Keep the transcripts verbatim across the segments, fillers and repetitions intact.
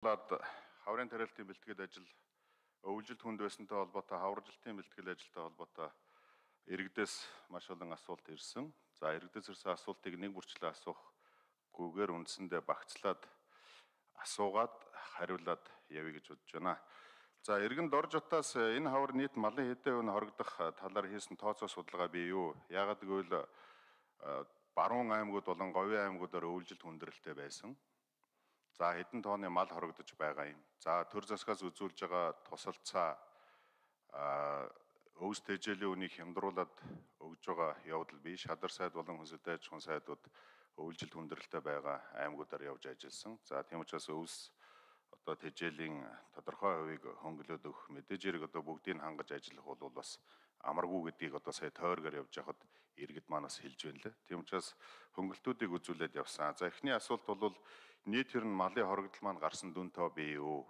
Хаврын тариалтын бэлтгэл ажил өвлжилт хүнд байсантай холбоотой хаваржилтын бэлтгэл ажилтай холбоотой иргэдээс маш олон асуулт ирсэн. За иргэдээс ирсэн асуултыг нэг бүрчлээ асуухгүйгээр үндсэндээ багцлаад асуугаад хариулаад явъя гэж бодож байна. За иргэн дор жотоос энэ хавар нийт малын хэдэн хувь хоригдох талаар хийсэн тооцоо судалгаа бий юу? Яагаад гэвэл баруун аймагуд болон говийн аймагуудаар өвлжилт хүндрэлтэй байсан. За хэдэн тонны мал хорогдож байгаа юм. За төр засгаас үзүүлж байгаа тусалцаа өвс тэжээлийн үнийг хямдруулаад өгж байгаа явдал бий. Шадар сайд болон хүнсэлтэй аж ахуйн сайдууд өвлжилт хүндрэлтэй байгаа аймагуудаар явж ажилласан. За тийм учраас өвс одоо тэжээлийн тодорхой хувийг хөнгөлөөд өгөх мэдээж хэрэг одоо бүгдийг хангаж ажиллах бол бас амаргүй гэдгийг одоо сая тойргоор явж байхад иргэд манаас хэлж байна лээ. Тийм учраас хөнгөлтүүдийг үзүүлээд явсан. За эхний асуулт бол нийт ер нь малын хоригдол маань гарсан дүн тоо бий юу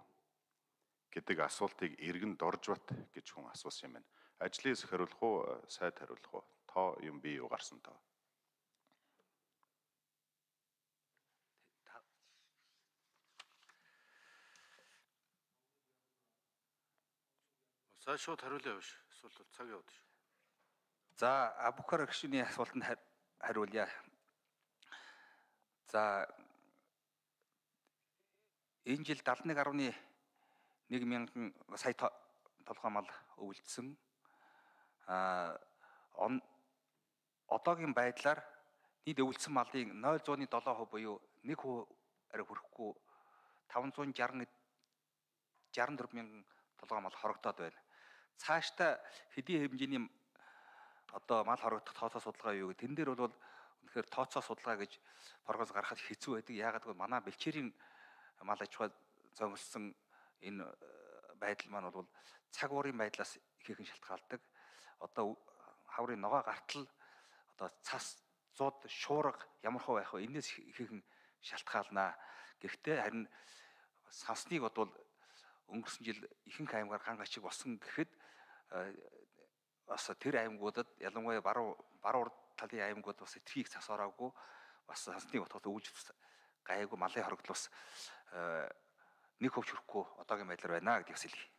гэдэг асуултыг иргэн Доржбат гэж хүн асуусан юм байна. Ажлын хэсэг хариулах уу, сайд хариулах уу? Тоо юм бий юу гарсан тоо? За шууд хариулъя биш. Эсвэл цаг яваад шүү. За Абукар гишүүний асуултанд хариулъя. За энэ жил дадлаг гаруй нэг мянган сая толгой мал өвлжсөн. А одоогийн байдлаар нийт өвлжсөн малын нуль зуун долоо хувь буюу нэг хувиар хүрэхгүй таван зуун жарган дөрвөн мянган толгой мал хорогдоод байна. Цаашдаа хэдийн хэмжээний одоо мал хорогдох тооцоо судалгаа юу гэх тэн дээр бол үнэхээр тооцоо судалгаа гэж прогноз гаргахад хэцүү байдаг. Яагаад гэвэл манай бэлчээрийн мал аж ахуй зөмөрсөн энэ байдал маань бол цаг уурын байдлаас ихээхэн шалтгаалдаг. Одоо хаврын ногоо гартал одоо цас зууд шуурга ямар хөө байх вэ? Энээс ихээхэн шалтгаалнаа. Гэхдээ харин сансныг бодвол өнгөрсөн жил ихэнх аймгаар ган ачиг болсон гэхэд бас тэр аймагуудад ялангуяа баруун баруун талын аймагуд бас этрхийг цас ороогүй бас сансныг бодоход өвлж гайгүй малын хоригдол бас нэг хөвч хүрэхгүй одоогийн байдлаар байна гэдгийг хэлье.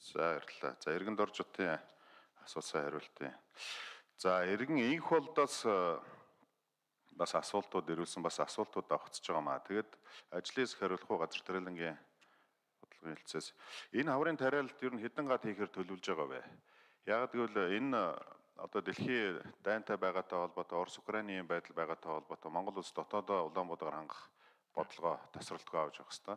За баярлалаа. За иргэн Доржотын асуусан хариултыг. За иргэн инх болдоос бас асуултууд ирүүлсэн, бас асуултууд авахцж байгаа маа. Тэгэд ажлын хэсэг хариулах уу, газар тариалангийн бодлогын хэлцээс энэ хаврын тариалалт ер нь хэдэн гад хийхээр төлөвлөж байгаа вэ? Яагаад гэвэл энэ одоо дэлхийн дайнтай байгаатай холбоотой, Орос Украиний байдал байгаатай холбоотой Монгол улс дотоодоо Улаанбаатар хангах бодлогоо тасралтгүй авч явах хэрэгтэй.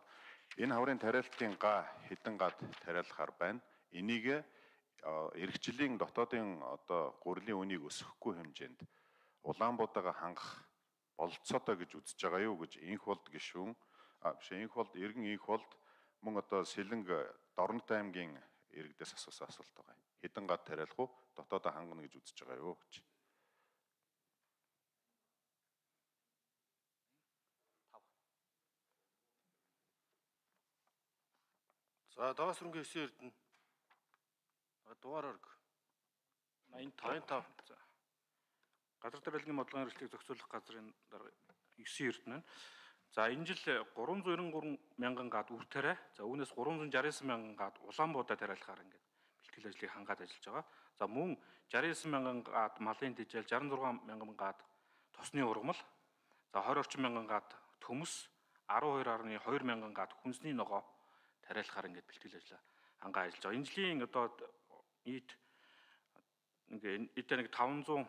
Энэ хаврын тариалтын га хэдэн гад тариалахаар байна. Энийг эх жилийн дотоодын одоо гурилын үнийг өсгөхгүй хэмжээнд Улаанбаатараа хангах болцоотой гэж үзэж байгаа юу гэж инх болд гишүүн а биш инх болд иргэн инх болд мөн одоо Сэлэнг Дорнот аймгийн иргэдээс асуусан асуулт байгаа. Хэдэн гад тариалах уу? Дотоодоо хангана гэж үзэж байгаа юу гэж. За Даваас рынгийн өссөн эрдэнэ. Дугаар орг. найман тав. За. Газар тариалангийн бодлогын хэрэгслийг зохицуулах газрын дарга ёсны эрдэнэ. За энэ жил гурван зуун найман гурван мянган гад үр тариа. За үүнээс гурван зуун шарсан и девять мянган гад Улаанбаатар тариалахаар ингээд бэлтгэл ажлыг хангаад ажиллаж байгаа. За мөн шарсан и девять мянган гад малын тэжээл, шарсан и зургаан мянган гад тосны ургамал, за двадцать орчим мянган гад төмөс, арван хоёр гаруй хоёр мянган гад хүнсний ногоо тариалахаар ингээд бэлтгэл ажлаа хангаа ажиллаж байгаа. Энэ жилийн одоо нийт ингээд эдгээр нэг таван зуун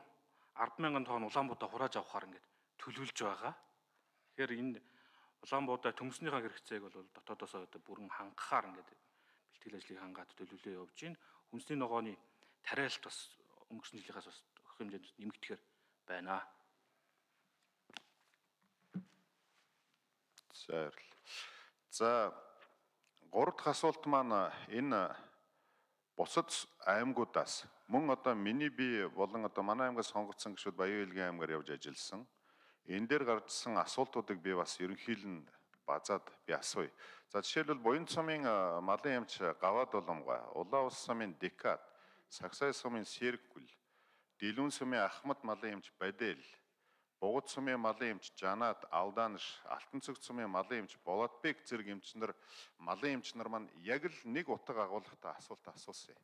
арван мянган тонн Улаанбаатар хурааж авахаар ингээд төлөвлөж байгаа. Тэгэхээр энэ Улаанбаатар төмснийхаа хэрэгцээг бол дотоодоос одоо бүрэн хангахаар ингээд бэлтгэл ажлыг хангаад төлөвлөө явж байна. Хүнсний ногооны тариалт бас өнгөрсөн жилийнхаас бас өгөх хэмжээнд нэмэгдэхээр байна. За За гурав дахь асуулт маань энэ бусад аймагуудаас мөн одоо миний би болон одоо манай аймгаас сонгогдсон гишүүд Баян Илгийн аймгаар явж ажилласан. Энэ дээр гарчсан асуултуудыг би бас ерөнхийлөн базаад би асууя. За жишээлбэл Буян цумын малын эмч Гаваад Уламгай, Улаан ус сумын Декат, Сагсай сумын Сэргүл, Дэлүүн сумын Ахмад малын эмч Бадэл, Бугад сумын малын эмч Жанат Алдаанш, Алтан цэг сумын малын эмч Болотбек зэрэг эмчнэр малын эмч нар маань яг л нэг утга агуулгатай асуулт асуусан.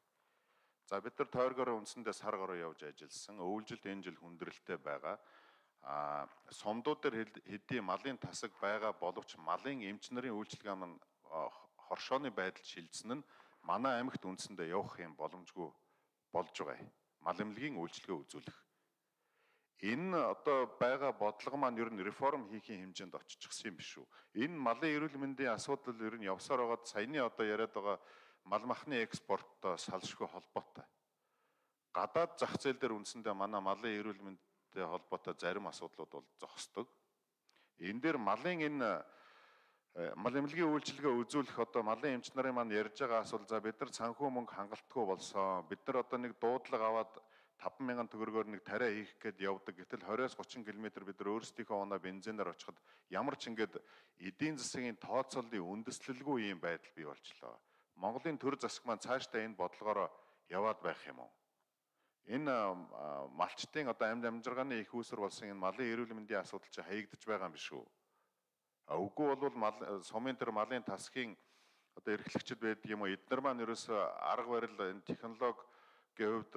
За бид нар тойргоор үндсэндээ сар гаруй явж ажилласан. Өвлжилт энэ жил хүндрэлтэй байгаа. А сумдууд дээр хэдийн малын тасаг байгаа боловч малын эмч нарын үйлчилгээ маань хоршооны байдалд шилжсэн нь манай аймагт үндсэндээ явах юм боломжгүй болж байгаа. Мал эмнэлгийн үйлчилгээ үзүүлэх. Энэ одоо байгаа бодлого маань ер нь реформ хийхийн хэмжээнд оччихсан юм биш үү? Энэ малын эрүүл мэндийн асуудал ер нь явсаар байгаад саяны одоо яриад байгаа мал махны экспорттой салшгүй холбоотой. Гадаад зах зээл дээр үндсэндээ манай малын эрүүл мэндтэй холбоотой зарим асуудлууд бол зогсдог. Энэ дээр малын энэ мал эмнэлгийн үйлчилгээ үзүүлэх одоо малын эмч нарын маань ярьж байгаа асуулт за бид нар санхүү мөнгө хангалтгүй болсон. Бид нар одоо нэг дуудлага аваад таван мянган төгрөгөөр нэг тариа хийх гээд явдаг. Гэтэл двадцать тридцать км бид нар өөрсдийнхөө оноо бензинээр очиход ямар ч ингээд эдийн засгийн тооцооллын үндэслэлгүй ийм байдал бий болчлоо. Монголын төр засаг маань цаашдаа энэ бодлогоор яваад байх юм уу? Энэ малчтын одоо амьд амжиргааны их үүсвэр болсон энэ малын эрүүл мэндийн асуудал чи хаягдж байгаа юм биш үү? Үгүй бол мал сумын тэр малын тасгийн одоо эрхлэгчд байдаг юм уу? Эдгээр маань ерөөсөө арга барил энэ технологи гэвд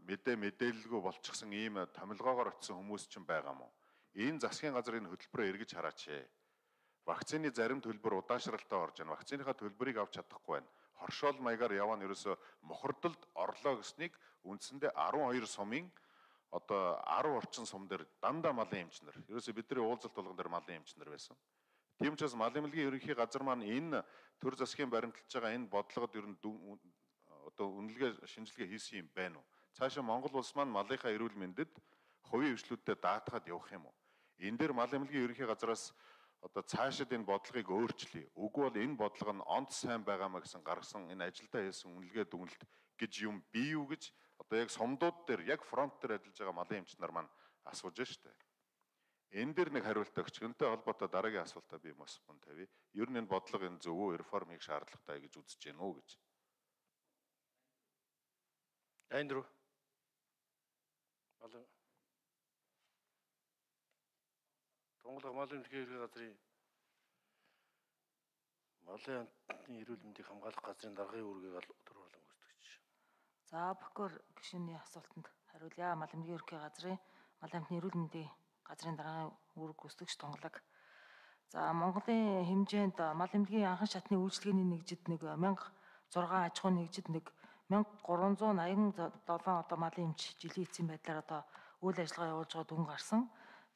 мэдээ мэдээлэлгүй болчихсон ийм томилгоогоор очисон хүмүүс ч байгаа мó. Энэ засгийн газрын хөтөлбөрөөр эргэж хараач. Вакцины зарим төлбөр удаашралтай орж байна. Вакциныхаа төлбөрийг авч чадахгүй байна. Хоршоол маягаар яваа нь ерөөсөө мохордолд орлоо гэснийг үндсэндээ арван хоёр сумын одоо арав орчим сум дээр дандаа малын эмчнэр. Ерөөсөө бидний уулзалт болгон дээр малын эмчнэр байсан. Тийм учраас мал эмнэлгийн ерөнхий газар маань энэ төр засгийн баримталж байгаа энэ бодлогод ер нь одоо үнэлгээ шинжилгээ хийсэн юм байна уу? Цаашаа Монгол улс маань малынхаа эрүүл мэндэд хувийн хвшлүүдтэй даатгаад явах юм уу? Энэ дээр мал эмнэлгийн ерөнхий газраас одоо цаашид энэ бодлогыг өөрчлөе. Үгүй бол энэ бодлого нь онц сайн байгаамаа гэсэн гаргасан энэ ажилдаа хийсэн үнэлгээ дүгнэлт гэж юм бий юу гэж одоо яг сумдууд дээр яг фронт дээр ажиллаж байгаа малын эмч нар маань асууж штэ. Энэ дээр нэг хариулт өгч энэтэй холбоотой дараагийн асуултаа би бас мөн тавья. Ер нь энэ бодлого энэ зөв үү, реформ хийх шаардлагатай гэж үзэж гэнэ үү гэж. Андрю. Мал Тонголго мал эмнэлгийн ерхий газрын малын амтны эрүүл мэндийг хамгаалах газрын даргын үүргийг төрүүлэн гүйцэтгэж. За Бакур гишүүний асуултанд хариулъя. Мал эмнэлгийн ерхий газрын мал амтны эрүүл мэндийн газрын даргын үүрэг гүйцэтгэгч Тонголог. За Монголын хэмжээнд мал эмнэлгийн анхан шатны үйлчилгээний нэгжид нэг мянга зургаан аж ахуйн нэгжид нэг мянга гурван зуун аян долоон одоо малын эмч жилийн эцсийн байдлаар одоо үйл ажиллагаа явуулж байгаа дүн гарсан.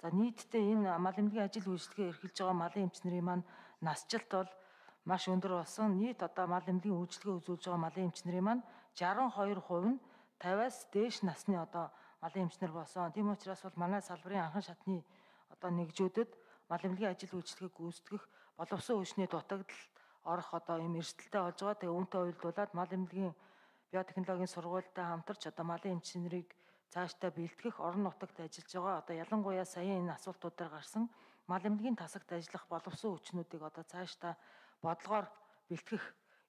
За нийтдээ энэ мал эмнэлгийн ажил үйлчилгээ эрхэлж байгаа малын эмч нарын маань насжилт бол маш өндөр болсон. Нийт одоо мал эмнэлгийн үйлчилгээ үзүүлж байгаа малын эмч нарын маань шестьдесят two percent нь пятидаас дээш насны одоо малын эмч нар болсон. Тийм учраас бол манай салбарын анхан шатны одоо нэгжүүдэд мал эмнэлгийн ажил үйлчилгээг гүйцэтгэх боловсон хүчний дутагдал орох одоо юм эрсдэлтэй болж байгаа. Тэгээ үүнтэй уялдуулаад мал эмнэлгийн биотехнологийн сургуультай хамтарч одоо малын эмч нарыг цаашдаа бэлтгэх орон нутагт ажиллаж байгаа. Одоо ялангуяа сая энэ асуултуудаар гарсан мал эмнэлгийн тасагт ажиллах боловсон хүчнүүдийг одоо цаашдаа бодлогоор бэлтгэх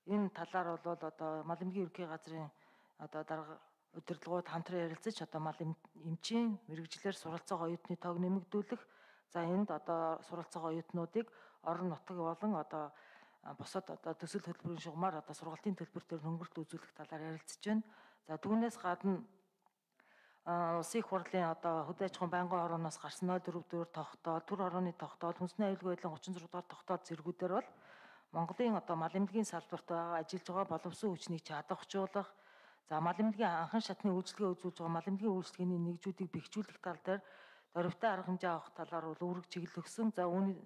энэ талаар бол одоо мал эмнэлгийн ерөнхий газрын одоо дарга удирдлагууд хамтран ярилцаж одоо мал эмчийн мэрэгжлэр суралцах оюутны тоог нэмэгдүүлэх. За энд одоо суралцах оюутнуудыг орон нутаг болон одоо босод одоо төсөл хөтөлбөрийн шугамар одоо сургалтын төлбөр төр хөнгөлт үзүүлэх талаар ярилцж байна. За түүнээс гадна улсын их хурлын одоо хөдөө аж ахуйн байнгын хорооноос гарсан ноль дөрөв дөрөв тогтоол, төр хорооны тогтоол, хүнсний аюулгүй байдлын гучин зураг дахь тогтоол зэргүүдээр бол Монголын одоо мал эмнэлгийн салбарт байгаа ажиллаж байгаа боловсон хүчнийг чадвархжуулах, за мал эмнэлгийн анхан шатны үйлчилгээ үзүүлж байгаа мал эмнэлгийн үйлчилгээний нэгжүүдийг бэхжүүлэх тал дээр дөрвтэй арга хэмжээ авах талаар бол үүрэг чиглэл өгсөн. За үүний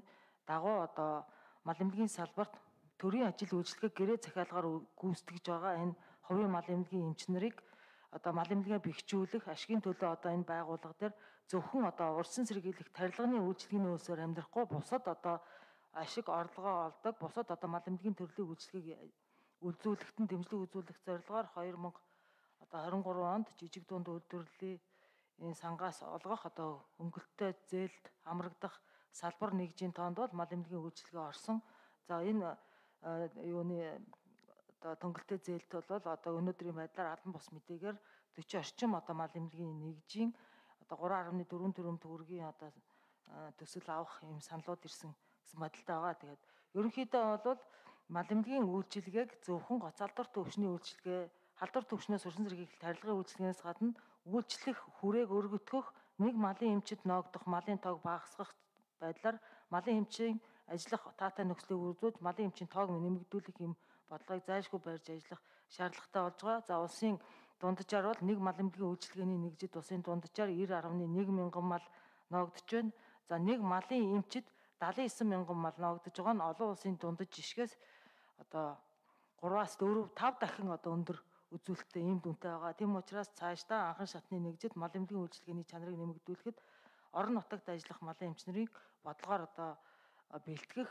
дагуу одоо мал эмнэлгийн салбарт төрийн ажил үйлчилгээ гэрээ захиалгаар гүйцэтгэж байгаа энэ хувийн мал эмнэлгийн эмч нарыг одоо мал эмнэлгээ бэхжүүлэх ашигын төлөө одоо энэ байгууллага дээр зөвхөн одоо урьдчилан сэргийлэх тарилганы үйлчилгээний үйлсээр амьдрахгүй бусад одоо ашиг орлогоо олдог бусад одоо мал эмнэлгийн төрлийн үйлчилгээг үзүүлэхэд нь дэмжлэг үзүүлэх зорилгоор хоёр мянга одоо двадцать three онд жижиг дунд үйлдвэрлэлийн энэ сангаас олгох одоо хөнгөлөлттэй зээлд амрагдах салбар нэгжийн тоонд бол мал эмнэлгийн үйлчилгээ орсон. За энэ юуны одоо төнгөлтэй зээлт бол одоо өнөөдрийн байдлаар албан бус мэдээгээр forty орчим одоо мал эмнэлгийн нэгжийн одоо three point four тэрбум төгрөгийн одоо төсөл авах юм саналууд ирсэн гэсэн бодолтой байгаа. Тэгээд ерөнхийдөө бол мал эмнэлгийн үйлчилгээг зөвхөн гоцалдвар төвчний үйлчилгээ, халдвар төвчнөөс өрсөн зэргийг тарилгын үйлчилгээнээс гадна үйлчлэх хүрээг өргөтгөх, нэг малын эмчид ноогдох, малын тоог багасгах байдлаар малын эмчийн ажиллах таатай нөхцөлийг үржүүлж малын эмчийн тоог нэмэгдүүлэх юм бодлогыг зайлшгүй барьж ажиллах шаардлагатай болж байгаа. За улсын дунджаар бол нэг мал эмнэлгийн үйлчилгээний нэгжид улсын дунджаар девять нугас нэг мянган мал ноогдож байна. За нэг малын эмчид севен девять мянган мал ноогдож байгаа нь олон улсын дундаж жишгээс одоо гураваас дөрөв тав дахин одоо өндөр үзүүлэлттэй ийм дүнтэй байгаа. Тийм учраас цаашдаа анхан шатны нэгжид мал эмнэлгийн үйлчилгээний чанарыг нэмэгдүүлэхэд орон нутагт ажиллах малын эмчнэрийг бодлогоор одоо бэлтгэх,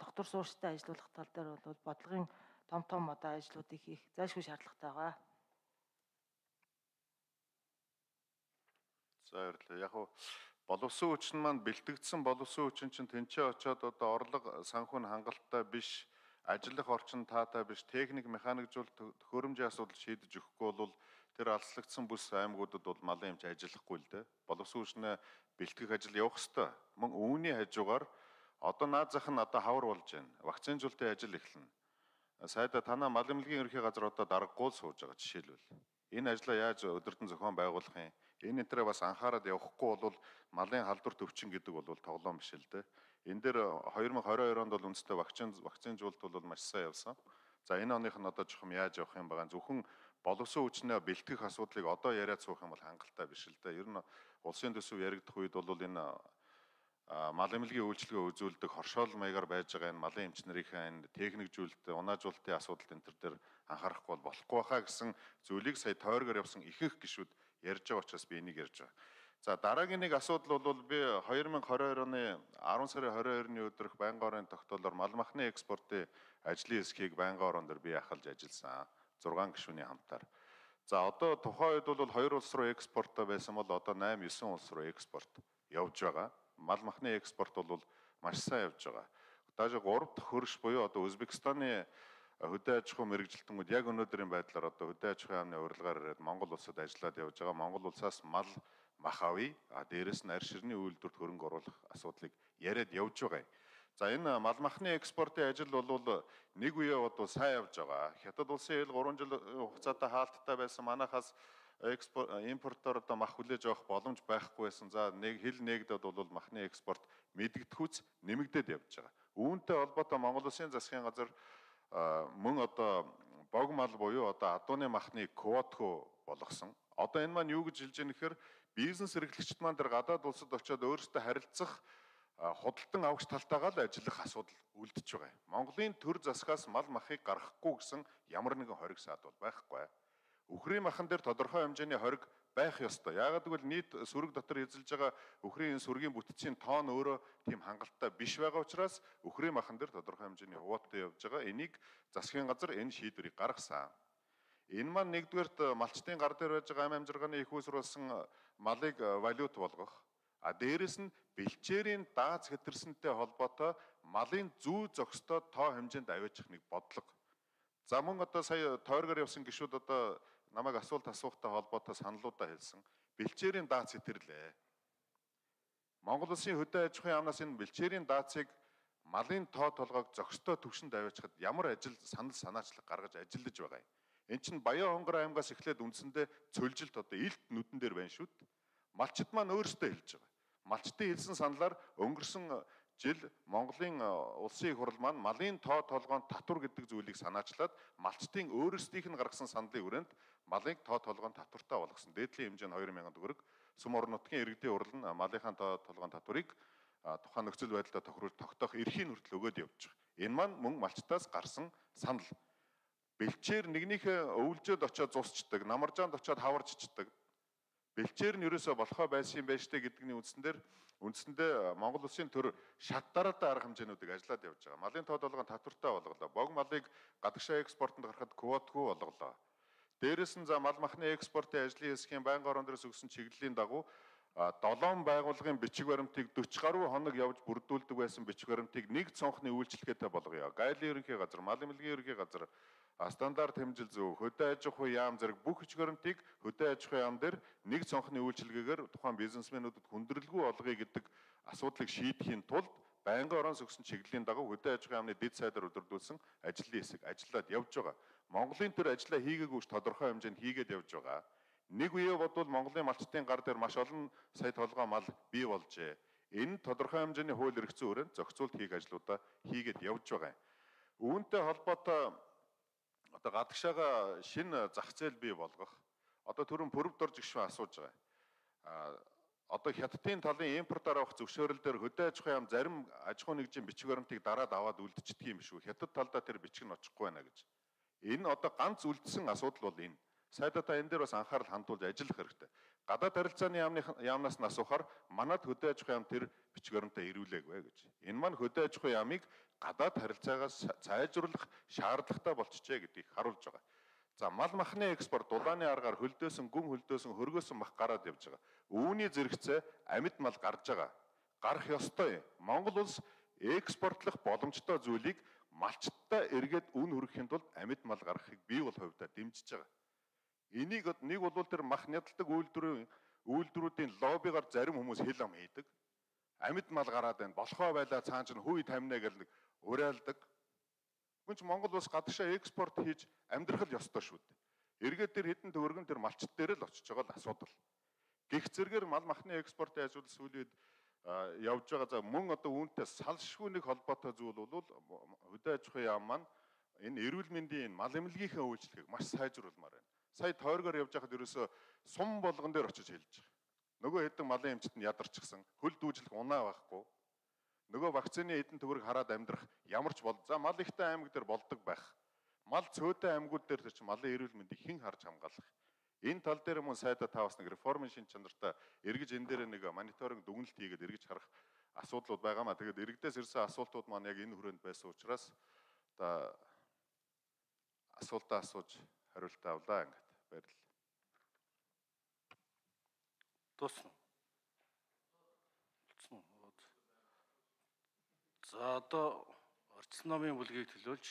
доктор суурьштай ажиллах тал дээр бол бодлогын том том одоо ажлуудыг хийх зайлшгүй шаардлагатай байгаа. За баярлалаа. Яг нь боловсон хүчин маань бэлтгэгдсэн боловсон хүчин чинь тэнцээ очиод одоо орлого санхүү нь хангалттай биш, ажиллах орчин таатай биш, техник механикжуулалт төхөөрөмжийн асуудал шийдэж өгөхгүй бол тэр алслагдсан бүс аймагуудад бол малын эмч ажиллахгүй л дээ. Боловсон хүчнээ бэлтгэх ажил явах ёстой. Мөн үүний хажуугаар одоо наад зах нь одоо хавар болж байна. Вакцинжуулалтын ажил эхэлнэ. Сайдаа танаа мал эмнэлгийн ерөнхий газар одоо даргагүй сууж байгаа жишээлбэл. Энэ ажлаа яаж өдөртөн зохион байгуулах юм? Энэ энтрээ бас анхаарал явахгүй бол малын халдвар төвчин гэдэг бол тоглоом биш л дээ. Энэ дээр две тысячи двадцать two онд бол үндэстэй вакцин вакцинжуулалт бол маш сайн явсан. За энэ оных нь одоо жохом яаж явах юм байгаа зөвхөн боловсон хүчнээ бэлтгэх асуудлыг одоо яриад суух юм бол хангалттай биш л дээ. Ер нь улсын төсөв яригдах үед бол энэ мал эмнэлгийн үйлчилгээ үзүүлдэг хоршоол маягаар байж байгаа энэ малын эмчнэрийнхээ энэ техникжүүлэлт, унаажуулалтын асуудал энэ төр дээр анхаарахгүй бол болохгүй байхаа гэсэн зүйлийг сая тойргоор явсан ихэнх гишүүд ярьж байгаа учраас би энийг ярьж байгаа. За дараагийн нэг асуудал бол би две тысячи двадцать two оны ten сарын двадцать two-ны өдрөх байнгын орон тогтоолоор мал махны экспортын ажлын эсхийг байнгын орон дээр би ахалж ажилласан. зургаан гишүүний хамтаар. За одоо тухайн үед бол хоёр улс руу экспортоо байсан бол одоо eight nine улс руу экспорт явж байгаа. Мал махны экспорт бол маш сайн явж байгаа. Даже тhree дахь хөрш буюу одоо Узбекистаны хөдөө аж ахуйн мэрэгжилтэнгүүд яг өнөөдрийн байдлаар одоо хөдөө аж ахуйн яамны урилгаар ирээд Монгол улсад ажиллаад явж байгаа. Монгол улсаас мал мах авъя. А дээрэс нь арь ширний үйлдвэрт хөрөнгө оруулах асуудлыг яриад явж байгаа. За энэ мал махны экспортын ажил бол нэг үе одоо сайн явж байгаа. Хятад улсын ил three жил хугацаатай хаалттай байсан манайхаас экспорт импортоор одоо мах хүлээж авах боломж байхгүй байсан. За нэг хил нэгдэд бол махны экспорт мэдгэдэгхүйц нэмэгдээд явж байгаа. Үүнтэй холбоотой Монгол Улсын засгийн газар мөн одоо бог мал буюу одоо адууны махны квотхоо болгосон. Одоо энэ маань юу гэж хэлж байгаа нэхэр бизнес эрхлэгчид маань тэр гадаад улсад очиод өөрсдөө харилцах худалдан авахч талтайгаа л ажиллах асуудал үлдэж байгаа. Монголын төр засгаас мал махыг гаргахгүй гэсэн ямар нэгэн хориг саад бол байхгүй. Үхрийн махан дээр тодорхой хэмжээний хориг байх ёстой. Яагаад гэвэл нийт сүрэг дотор эзэлж байгаа үхрийн сүргийн бүтцийн тоон өөрөө тийм хангалттай биш байгаа учраас үхрийн махан дээр тодорхой хэмжээний хувааттай явж байгаа. Энийг засгийн газар энэ шийдвэрийг гаргасан. Энэ маань нэгдүгээрт малчтын гар дээр байж байгаа ам амжиргааны их үүсрүүлсэн малыг валют болгох. А дээрэс нь бэлчээрийн дааз хэтэрсэнтэй холбоотой малын зүү зохистой тоо хэмжээнд аваачих нэг бодлого. За мөн одоо сая тойргоор явсан гишүүд одоо намайг асуулт асуухтай холбоотой саналуудаа хэлсэн. Бэлчээрийн дааз хэтэрлээ. Монгол Улсын хөдөө аж ахуйн яамнаас энэ бэлчээрийн даацыг малын тоо толгойг зохистой түвшинд аваачихад ямар ажил санал санаачлаг гаргаж ажиллаж байгаа юм. Эн чинь Баян Хонгор аймгаас эхлээд үндсэндээ цөлжилт одоо илт нүдэн дээр байна шүү дээ. Малчид маань өөрсдөө хэлж байгаа. Малчдын хэлсэн саналаар өнгөрсөн жил Монголын улсын их хурл маань малын тоо толгойн татвар гэдэг зүйлийг санаачлаад малчдын өөрсдийнх нь гаргасан сандлын хүрээнд малын тоо толгойн татвартай болгосон. Дээдлийн хэмжээ нь two thousand төгрөг. Сүм орон нутгийн иргэдийн хурл нь малынхаа тоо толгойн татварыг тухайн нөхцөл байдлаа тохируулж тогтоох эрхийн хүртэл өгөөд явж байгаа. Энэ маань мөн малчтаас гарсан санал. Бэлчээр нэгнийхээ өвлжөөд очиод зусчдаг, намаржаанд очиод хаварчдаг. Бэлчээр нь ерөөсө болохоо байсан юм байж тээ гэдгний үндсэн дээр үндсэндээ Монгол Улсын төр шат дараатай арга хэмжээнүүдийг ажиллаад явж байгаа. Малын тоо толгойн татвартай болголоо. Бог малыг гадагшаа экспортод гаргахад квотгүй болголоо. Дээрээс нь за мал махны экспортын ажлын хэсгийн байнгын орон дээрээс өгсөн чиглэлийн дагуу долоон байгууллагын бичиг баримтыг forty гаруй хоног явж бүрдүүлдэг байсан бичиг баримтыг нэг цонхны үйлчлэгээтэй болгоё. Гайлын ерөнхий газар, мал эмнэлгийн ерөнхий газар, стандарт хэмжил зөв, хөдөө аж ахуй яам зэрэг бүх бичиг баримтыг хөдөө аж ахуй яам дээр нэг цонхны үйлчилгээгээр тухайн бизнесмэнүүдэд хүндрэлгүй олгоё гэдэг асуудлыг шийдэхийн тулд байнгын орон сөгсөн чиглэлийн дагуу хөдөө аж ахуйн яамны дэд сайдаар өдөрдүүлсэн ажлын хэсэг ажиллаад явж байгаа. Монголын төр ажлаа хийгээгүйч тодорхой хэмжээнд хийгээд явж байгаа. Нэг үе бодвол Монголын малчтын гар дээр маш олон сая толгой мал бий болжээ. Энэ тодорхой хэмжээний хууль эрх зүйн хүрээнд зохицуулт хийх ажлуудаа хийгээд явж байгаа. Үүнтэй холбоотой одоо гадагшаага шинэ зах зээл бий болгох одоо түрүүн пүрэв дор жигшүүн асууж байгаа. А одоо хятадын талын импортоор авах зөвшөөрөл дээр хөдөө аж ахуйн яам зарим аж ахуйн нэгжийн бичиг баримтыг дараад аваад үлдчихдэг юм шүү. Хятад талдаа тэр бичиг нь очихгүй байна гэж. Энэ одоо ганц үлдсэн асуудал бол энэ. Сайдаа энэ дээр бас анхаарал хандуулж ажиллах хэрэгтэй. Гадаад харилцааны яамны яамнаас нь асуухаар манад хөдөө аж ахуйн яам тэр бичиг баримтаа ирүүлээгүй гэж. Энэ маань хөдөө аж ахуйн яамыг гадаад харилцаагаас сайжруулах шаардлагатай болчихжээ гэдгийг харуулж байгаа. За мал махны экспорт дулааны аргаар хөлдөөсөн гүн хөлдөөсөн хөргөөсөн мах гараад явж байгаа. Үүний зэрэгцээ амьд мал гарч байгаа. Гарах ёстой. Монгол улс экспортлох боломжтой зүйлийг малчтаа эргээд үн хүргэхийн тулд амьд мал гаргахыг бий бол хувьдаа дэмжиж байгаа. Энийг нэг бол тэр мах нядалдаг үйлдвэрийн үйлдвэрүүдийн лоббигаар зарим хүмүүс хэл ам хийдэг. Амьд мал гараад байна. Болохоо байлаа цаан чинь хүй таминаа гэл нэг уриалдаг. Гүнч Монгол улс гадагшаа экспорт хийж амьдрах л ёстой шүү дээ. Эргээд тэр хэдэн төгрөгөн тэр малчт дээр л очиж байгаа л асуудал. Гэх зэргээр мал махны экспортын ажил сүүлийн явж байгаа. За мөн одоо үүнтэй салшгүй нэг холбоотой зүйл бол хөдөө аж ахуйн яам маань энэ эрүүл мэндийн мал эмнэлгийнхээ үйлчлэгийг маш сайжруулмаар байна. Сая тойргоор явж байхад ерөөсө сум болгон дээр очиж хэлж байгаа. Нөгөө хэдэн малын эмчт нь ядарчихсан. Хөл дүүжлэх унаа байхгүй. Нөгөө вакцины эдэн төгрөг хараад амьдрах ямар ч бол. За мал ихтэй аймаг дээр болдог байх. Мал цөөтэй аймагуд дээр ч малын эрүүл мэндийг хэн харж хамгаалах. Энэ тал дээр мөн сайдаа та бас нэг реформын шин чанартай эргэж энэ дээр нэг мониторинг дүгнэлт хийгээд эргэж харах асуудлууд байгаамаа. Тэгээд иргэдээс ирсэн асуултууд маань яг энэ хүрээнд байсан учраас одоо асуултаа асууж хариултаа авлаа ингээд баярлалаа. Дуусна. За одоо орчсон номын бүлгийг төлөөлж